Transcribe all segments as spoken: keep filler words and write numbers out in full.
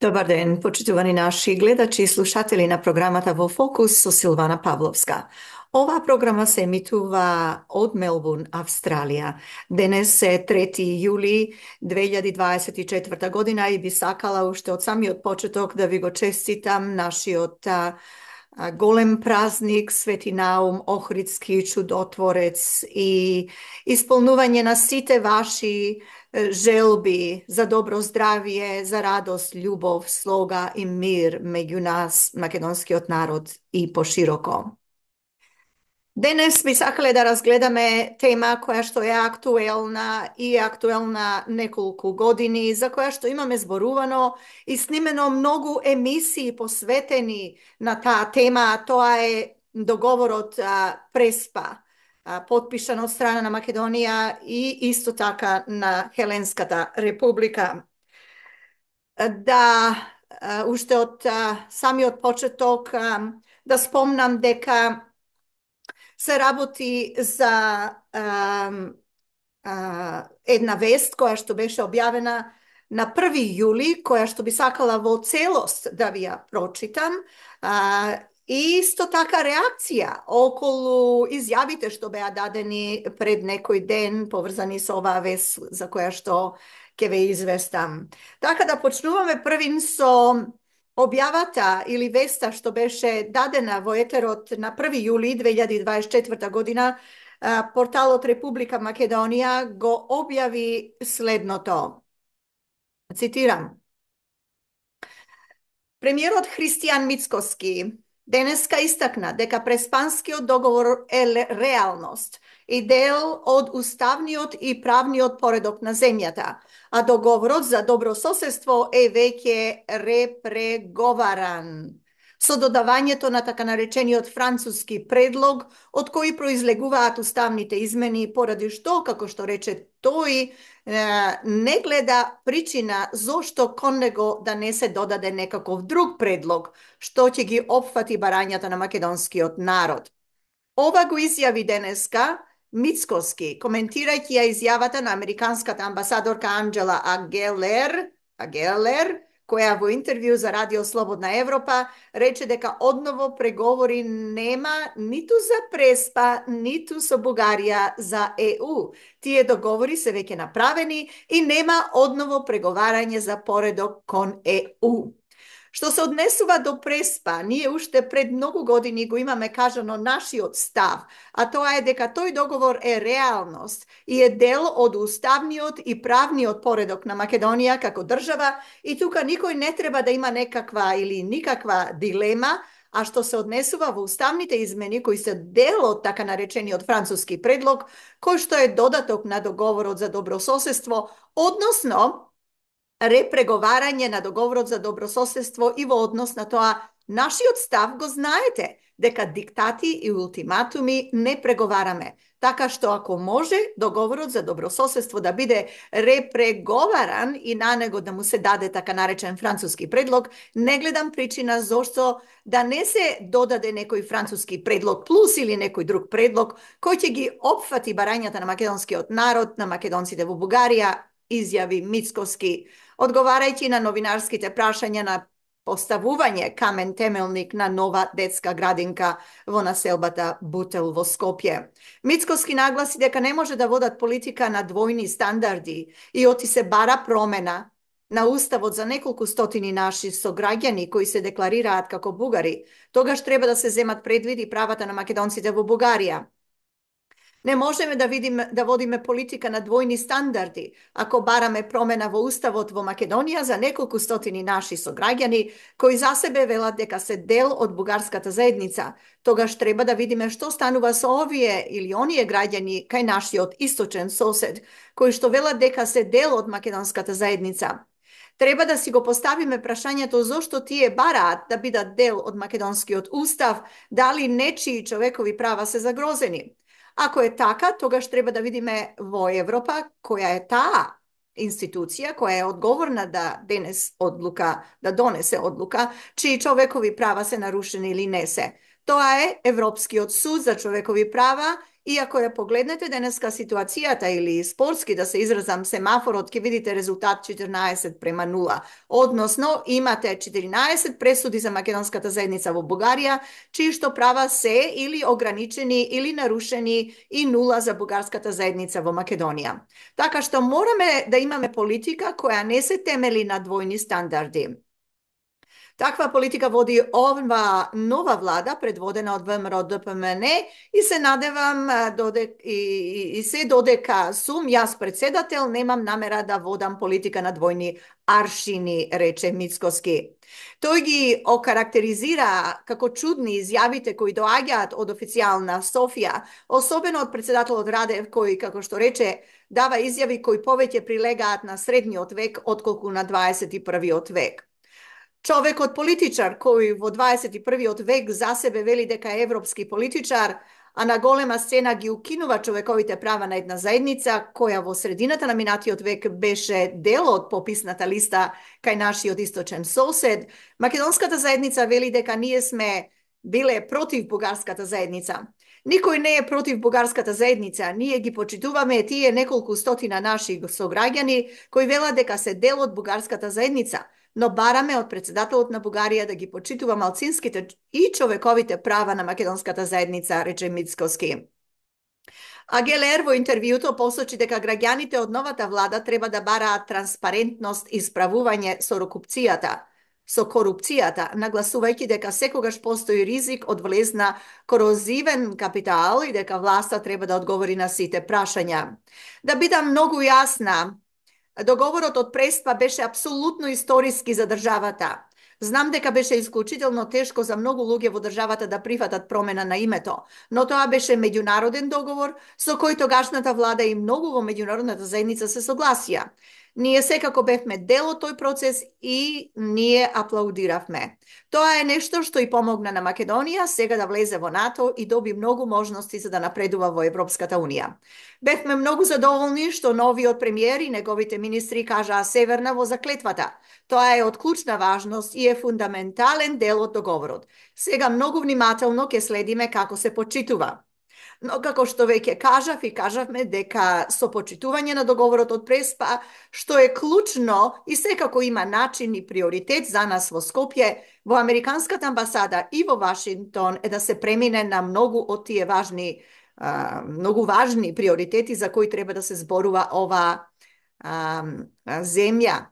Добар ден, почитувани наши гледачи и слушатели на програмата Во Фокус со Силвана Павловска. Оваа програма се емитува од Мелбурн, Австралија. Денес е трети јули две илјади дваесет и четврта година и би сакала уште од самиот почеток да ви го честитам нашиот а, а, голем празник, Свети Наум Охридски чудотворец и исполнување на сите ваши желби за добро здравие, за радост, љубов, слога и мир меѓу нас, македонскиот народ и пошироко. Денес би сакале да разгледаме тема која што е актуелна и актуелна неколку години, за која што имаме зборувано и снимено многу емисии посветени на таа тема, а тоа е договорот а, Преспа, потпишан од страна на Македонија и исто така на Хеленската република. Да, уште од самиот почеток да спомнам дека се работи за а, а, една вест која што беше објавена на први јули, која што би сакала во целост да ви ја прочитам. А, И исто така реакција околу изјавите што беа дадени пред некој ден поврзани со оваа вест за која што ќе ве известам. Така да почнуваме првин со објавата или веста што беше дадена во етерот на први јули две илјади дваесет и четврта година. Порталот Република Македонија го објави следното. Цитирам. Премиерот Христијан Мицкоски денеска истакна дека Преспанскиот договор е реалност и дел од уставниот и правниот поредок на земјата, а договорот за добро соседство е веќе репреговаран со додавањето на така наречениот француски предлог, од кој произлегуваат уставните измени, поради што, како што рече тој, не гледа причина зошто кон него да не се додаде некаков друг предлог, што ќе ги опфати барањата на македонскиот народ. Ова го изјави денеска Мицкоски, коментирајќи ја изјавата на американската амбасадорка Анџела Агелер, Агелер, која во интервју за Радио Слободна Европа рече дека одново преговори нема ниту за Преспа, ниту со Бугарија за Е У. Тие договори се веќе направени и нема одново преговарање за поредок кон Е У. Што се однесува до Преспа, ние уште пред многу години го имаме кажано нашиот став, а тоа е дека тој договор е реалност и е дел од уставниот и правниот поредок на Македонија како држава и тука никој не треба да има некаква или никаква дилема, а што се однесува во уставните измени кои се дел од така наречениот француски предлог, кој што е додаток на договорот за добрососедство, односно репреговарање на договорот за добрососедство и во однос на тоа нашиот став го знаете, дека диктати и ултиматуми не преговараме. Така што ако може договорот за добрососедство да биде репреговаран и на него да му се даде така наречен француски предлог, не гледам причина зошто да не се додаде некој француски предлог плюс или некој друг предлог кој ќе ги опфати барањата на македонскиот народ, на македонците во Бугарија, изјави Мицкоски, одговарајќи на новинарските прашања на поставување камен темелник на нова детска градинка во населбата Бутел во Скопје. Мицкоски нагласи дека не може да водат политика на двојни стандарди и оти се бара промена на уставот за неколку стотини наши сограѓани кои се декларираат како бугари, тогаш треба да се земат предвид правата на македонците во Бугарија. Не можеме да видиме да водиме политика на двојни стандарди ако бараме промена во уставот во Македонија за неколку стотини наши сограѓани кои за себе велат дека се дел од бугарската заедница. Тогаш треба да видиме што станува со овие или оние граѓани кај нашиот источен сосед кои што велат дека се дел од македонската заедница. Треба да си го поставиме прашањето зошто тие бараат да бидат дел од македонскиот устав, дали нечии човекови права се загрозени. Ако е така, тогаш треба да видиме во Европа која е таа институција која е одговорна да денес одлука, да донесе одлука, чии човекови права се нарушени или не се. Тоа е Европскиот суд за човекови права И ако ја погледнете денеска ситуацијата или спортски да се изразам семафорот, ќе видите резултат четирнаесет према нула. Односно, имате четирнаесет пресуди за македонската заедница во Бугарија, чии што права се или ограничени или нарушени и нула за бугарската заедница во Македонија. Така што мораме да имаме политика која не се темели на двојни стандарди. Таква политика води ова нова влада, предводена од ВМРО Д П М Н, и се надевам додек, и, и се додека сум јас председател, немам намера да водам политика на двојни аршини, рече Мицкоски. Тој ги окарактеризира како чудни изјавите кои доаѓаат од официјална Софија, особено од председателот Радев, кој, како што рече, дава изјави кои повеќе прилегаат на средниот век отколку на дваесет и првиот век. Човекот политичар кој во дваесет и првиот век за себе вели дека е европски политичар, а на голема сцена ги укинува човековите права на една заедница која во средината на минатиот век беше дел од пописната листа кај нашиот источен сосед, македонската заедница вели дека ние сме биле против бугарската заедница. Никој не е против бугарската заедница, ние ги почитуваме тие неколку стотина наши сограѓани кои велат дека се дел од бугарската заедница, но бараме од председателот на Бугарија да ги почитува малцинските и човековите права на македонската заедница, рече Мицкоски. А Гелер во интервјуто посочи дека граѓаните од новата влада треба да бараат транспарентност и справување со корупцијата, со корупцијата, нагласувајќи дека секогаш постои ризик од влез на корозивен капитал и дека власта треба да одговори на сите прашања. Да бидам многу јасна, договорот од Преспа беше апсолутно историски за државата. Знам дека беше исклучително тешко за многу луѓе во државата да прифатат промена на името, но тоа беше меѓународен договор со кој тогашната влада и многу во меѓународната заедница се согласија. Ние секако бевме дел од тој процес и ние аплаудиравме. Тоа е нешто што и помогна на Македонија сега да влезе во НАТО и доби многу можности за да напредува во Европската Унија. Бевме многу задоволни што новиот премиер и неговите министри кажаа северна во заклетвата. Тоа е од клучна важност и е фундаментален дел од договорот. Сега многу внимателно ќе следиме како се почитува. Но како што веќе кажав и кажавме дека со почитување на договорот од Преспа, што е клучно и секако има начин и приоритет за нас во Скопје, во Американската амбасада и во Вашингтон е да се премине на многу од тие важни, а, многу важни приоритети за кои треба да се зборува ова а, земја.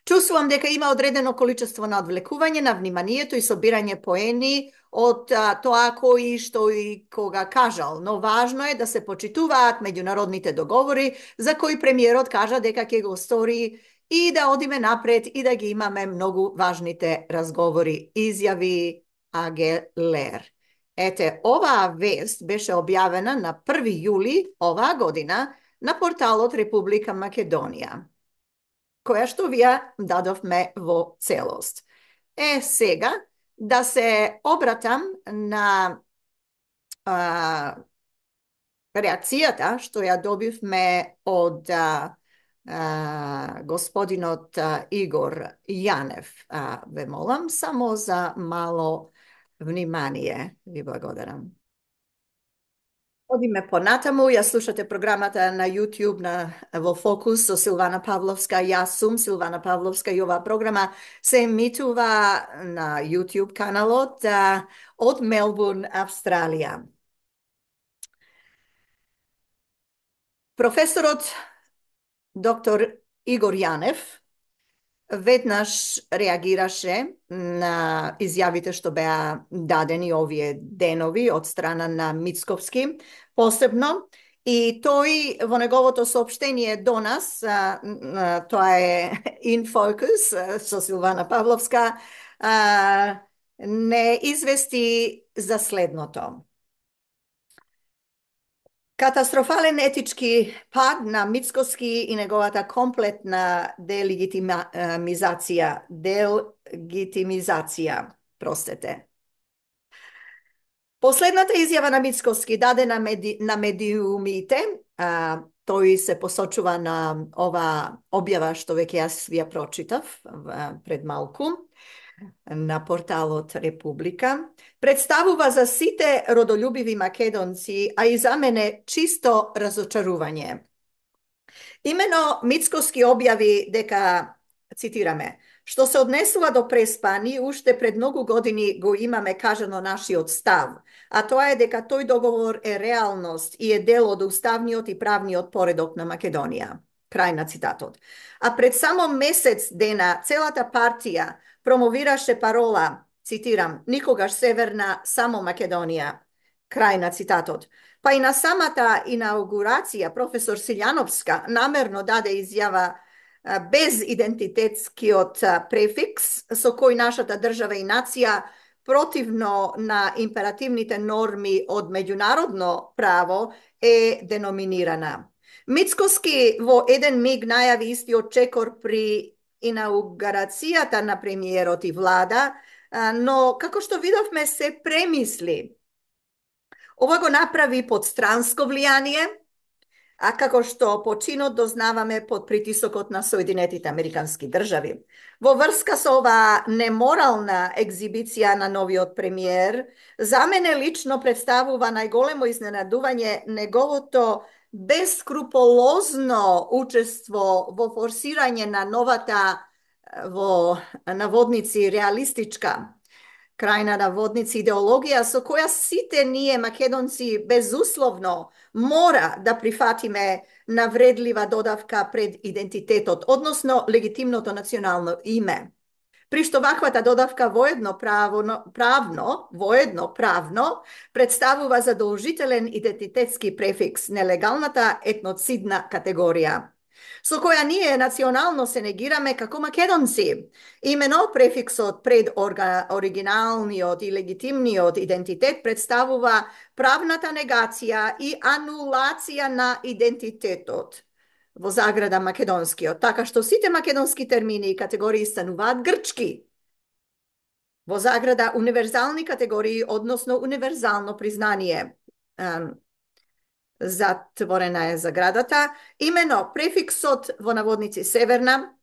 Чувствувам дека има одредено количество на одвлекување на вниманието и собирање поени од а, тоа кои што и кога кажал, но важно е да се почитуваат меѓународните договори за кои премиерот кажа дека ќе го стори и да одиме напред и да ги имаме многу важните разговори, изјави Агелер. Ете, оваа вест беше објавена на први јули оваа година на порталот Република Македонија, која што вие дадовме во целост. Е, сега, да се обратам на а, реакцијата што ја добивме од а, а, господинот а, Игор Јанев. А, ве молам само за мало внимание. Ви благодарам. Одиме понатаму, ја слушате програмата на YouTube на во Фокус со Силвана Павловска. Јас сум Силвана Павловска и оваа програма се емитува на YouTube каналот а, од Мелбурн, Австралија. Професорот доктор Игор Јанев веднаш реагираше на изјавите што беа дадени овие денови од страна на Мицковски, посебно, и тој во неговото соопштение до нас, а, а, тоа е In Focus со Силвана Павловска, а, не извести за следното. Катастрофален етички пад на Мицкоски и неговата комплетна делегитимизација, делегитимизација, простете. Последната изјава на Мицкоски дадена меди, на медиумите, а, тој се посочува на ова објава што веќе јас ја прочитав а, пред малку, на порталот Република, представува за сите родолюбиви македонци, а и за мене чисто разочарување. Имено Мицкоски објави дека, цитираме, што се однесува до Преспани, уште пред многу години го имаме кажано нашиот став, а тоа е дека тој договор е реалност и е дел од уставниот и правниот поредок на Македонија. Крај на цитатот. А пред само месец дена целата партија промовираше парола, цитирам, никогаш Северна, само Македонија. Крај на цитатот. Па и на самата инаугурација професор Силјановска намерно даде изјава без идентитетскиот префикс со кој нашата држава и нација противно на императивните норми од меѓународно право е деноминирана. Мицкоски во еден миг најави истиот чекор при инаугурацијата на премиерот и влада, но како што видовме се премисли. Ова го направи под странско влијание, а како што починот дознаваме под притисокот на Соединетите Американски држави. Во врска со оваа неморална екзибиција на новиот премиер, за мене лично представува најголемо изненадување неговото бескруполозно учество во форсирање на новата, во наводници, реалистичка, крај на наводници, идеологија со која сите ние македонци безусловно мора да прифатиме навредлива додавка пред идентитетот, односно легитимното национално име. При што ваквата додавка воедно правно, правно, воедно правно представува задолжителен идентитетски префикс, нелегалната етноцидна категорија, со која ние национално се негираме како македонци. Имено префиксот пред оригиналниот и легитимниот идентитет представува правната негација и анулација на идентитетот, во заграда македонскиот, така што сите македонски термини и категории стануваат грчки. Во заграда универзални категории, односно универзално признание. Затворена е заградата. Имено префиксот во наводници Северна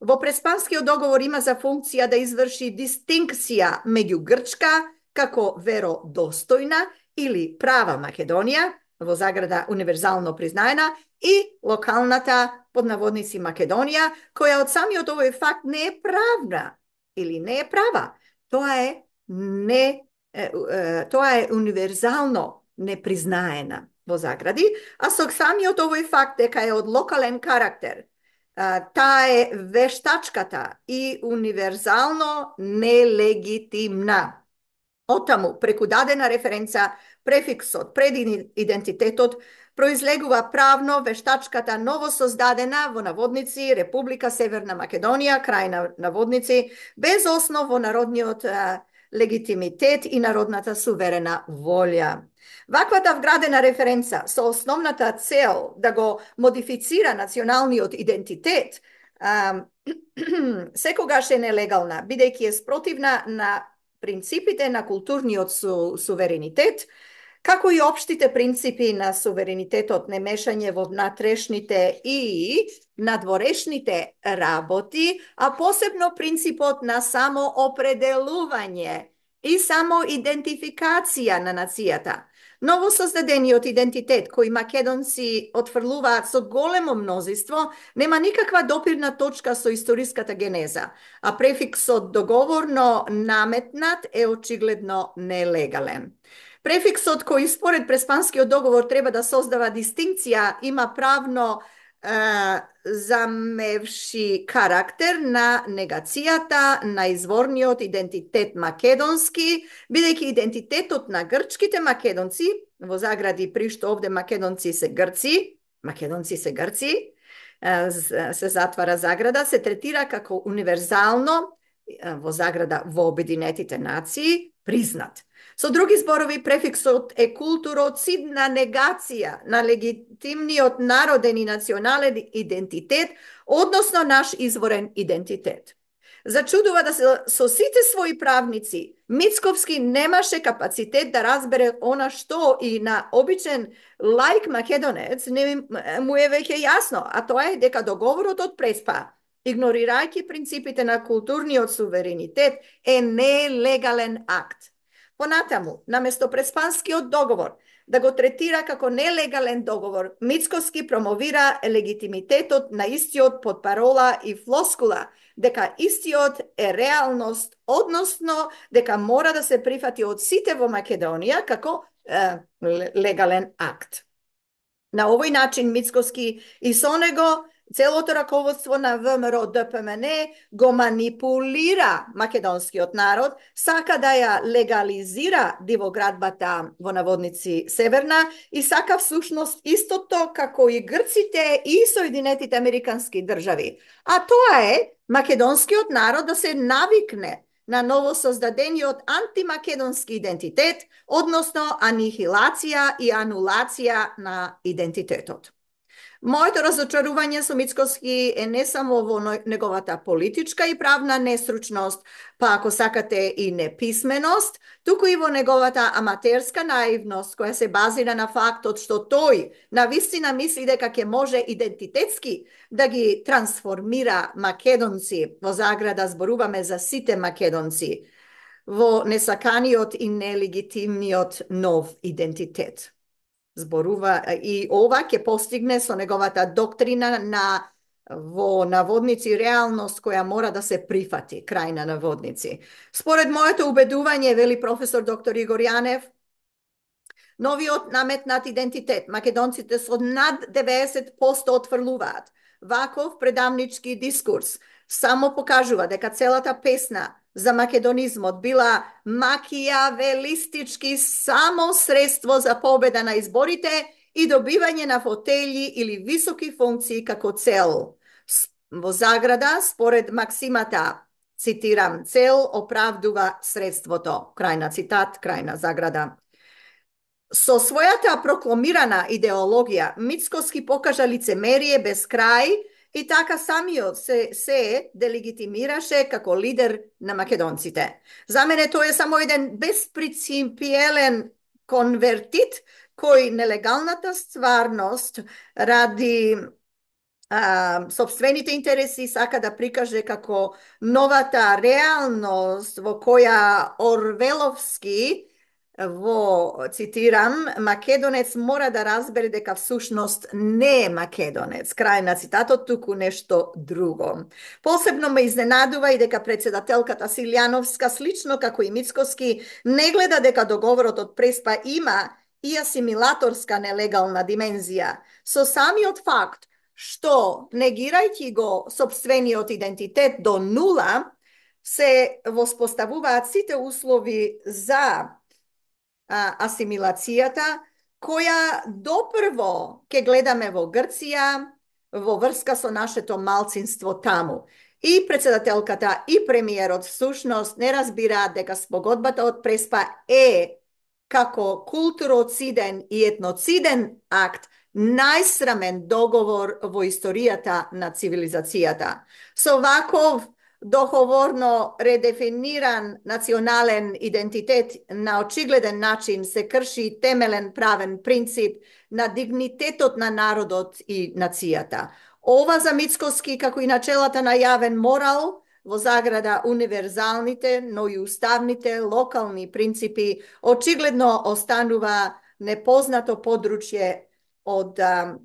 во Преспанскиот договор има за функција да изврши дистинкција меѓу грчка како веродостојна или права Македонија, во заграда универзално признаена, и локалната под наводници Македонија, која од самиот овој факт не е правна или не е права. Тоа е не е, е, тоа е универзално непризнаена во загради, а со самиот овој факт дека е од локален карактер, таа е вештачката и универзално нелегитимна. Отаму, преку дадена референца, префиксот пред идентитетот произлегува правно вештачката новосоздадена во наводници Република Северна Македонија, крај на наводници, без основ во народниот а, легитимитет и народната суверена волја. Ваквата вградена референца со основната цел да го модифицира националниот идентитет а, секогаш е нелегална, бидејќи е спротивна на принципите на културниот су, суверенитет, како и општите принципи на суверенитетот, немешање во внатрешните и надворешните работи, а посебно принципот на самоопределување и самоидентификација на нацијата. Новосоздадениот идентитет, кој македонци отфрлуваат со големо мнозинство, нема никаква допирна точка со историската генеза, а префиксот договорно наметнат е очигледно нелегален. Префиксот кој според Преспанскиот договор треба да создава дистинкција има правно е, замевши карактер на негацијата на изворниот идентитет македонски, бидејќи идентитетот на грчките македонци, во загради при што овде македонци се грци, македонци се грци, се затвара заграда, се третира како универзално, во заграда во Обединетите нации, признат. Со други зборови, префиксот е културоцидна негација на легитимниот народен и национален идентитет, односно наш изворен идентитет. Зачудува да се со сите своји правници, Мицковски немаше капацитет да разбере она што и на обичен лаик македонец не му е веќе јасно, а тоа е дека договорот од Преспа игнорирајќи принципите на културниот суверенитет, е нелегален акт. Понатаму, наместо Преспанскиот договор да го третира како нелегален договор, Мицкоски промовира легитимитетот на истиот под парола и флоскула дека истиот е реалност, односно дека мора да се прифати од сите во Македонија како е, легален акт. На овој начин Мицкоски и со него целото раководство на ВМРО Д П М Н го манипулира македонскиот народ, сака да ја легализира дивоградбата во наводници Северна и сака всушност истото како и грците и Соединетите Американски држави. А тоа е македонскиот народ да се навикне на новосоздадениот антимакедонски идентитет, односно анихилација и анулација на идентитетот. Моето разочарување со Мицкоски е не само во неговата политичка и правна нестручност, па ако сакате и неписменост, туку и во неговата аматерска наивност, која се базира на фактот што тој навистина мисли дека ќе може идентитетски да ги трансформира македонци, во заграда зборуваме за сите македонци, во несаканиот и нелегитимниот нов идентитет. Зборува и ова ќе постигне со неговата доктрина на во наводници реалност која мора да се прифати, крај на наводници. Според моето убедување, вели професор доктор Игор Јанев, новиот наметнат идентитет македонците со над деветдесет проценти отфрлуваат. Ваков предавнички дискурс само покажува дека целата песна за македонизмот била макијавелистички само средство за победа на изборите и добивање на фотели или високи функции како цел. Во заграда, според максимата, цитирам, цел оправдува средството. Крај на цитат, крај на заграда. Со својата прокламирана идеологија, Мицкоски покажа лицемерие без крај и така самиот се, се делегитимираше како лидер на македонците. За мене тој е само еден безпринципиелен конвертит кој нелегалната стварност ради а, собствените интереси сака да прикаже како новата реалност во која Орвеловски во, цитирам, македонец мора да разбере дека всушност не е македонец. Крај на цитатот, туку нешто друго. Посебно ме изненадува и дека председателката Силјановска, слично како и Мицкоски, не гледа дека договорот од Преспа има и асимилаторска нелегална димензија. Со самиот факт што, негирајќи го собствениот идентитет до нула, се воспоставуваат сите услови за асимилацијата, која допрво ќе гледаме во Грција, во врска со нашето малцинство таму. И председателката, и премиерот всушност не разбираат дека спогодбата од Преспа е како културоциден и етноциден акт најсрамен договор во историјата на цивилизацијата. Со ваков договорно редефиниран национален идентитет на очигледен начин се крши темелен правен принцип на дигнитетот на народот и нацијата. Ова за Мицкоски, како и начелата на јавен морал, во заграда универзалните, но и уставните локални принципи, очигледно останува непознато подручје од а,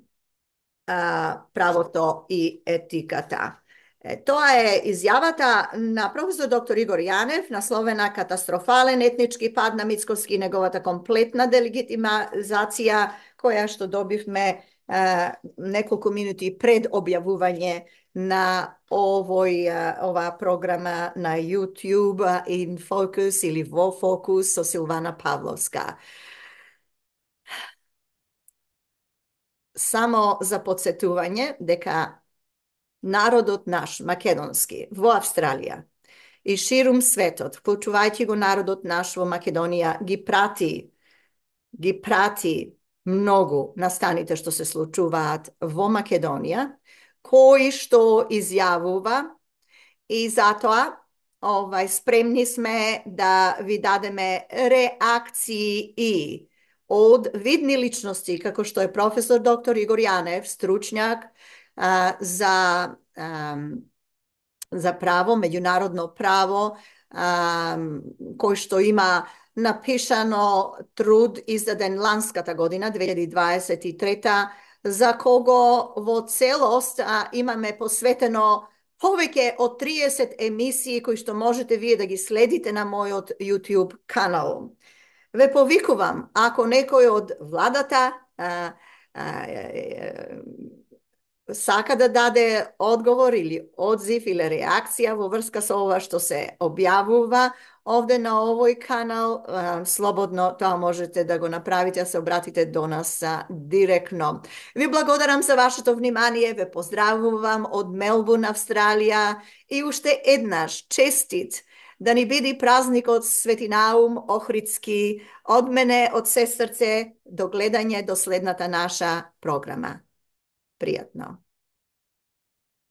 а, правото и етиката. Е, тоа е изјавата на професор доктор Игор Јанев, насловена "Катастрофален етнички пад на Мицкоски и неговата комплетна делегитимизација", која што добивме е, неколку минути пред објавување на овој, оваа програма на YouTube in Focus или во Фокус со Силвана Павловска. Само за подсетување дека народот наш, македонски, во Австралија и ширум светот, вклучувајќи го народот наш во Македонија, ги прати, ги прати многу настаните што се случуваат во Македонија, кои што изјавува и затоа овај, спремни сме да ви дадеме реакции и од видни личности, како што е професор доктор Игор Јанев, стручњак а, за а, за право, меѓународно право, а, кој што има напишано труд издаден ланската година, две илјади дваесет и трета, за кого во целост а, имаме посветено повеќе од триесет емисии кои што можете вие да ги следите на мојот YouTube канал. Ве повикувам, ако некој од владата а, а, сака да даде одговор или одзив или реакција во врска со ова што се објавува овде на овој канал, слободно тоа можете да го направите, да се обратите до нас директно. Ви благодарам за вашето внимание, ве поздравувам од Мелбурн, Австралија и уште еднаш честит да ни биде празникот Свети Наум Охридски од мене, од се срце, до гледање до следната наша програма. Пријатно.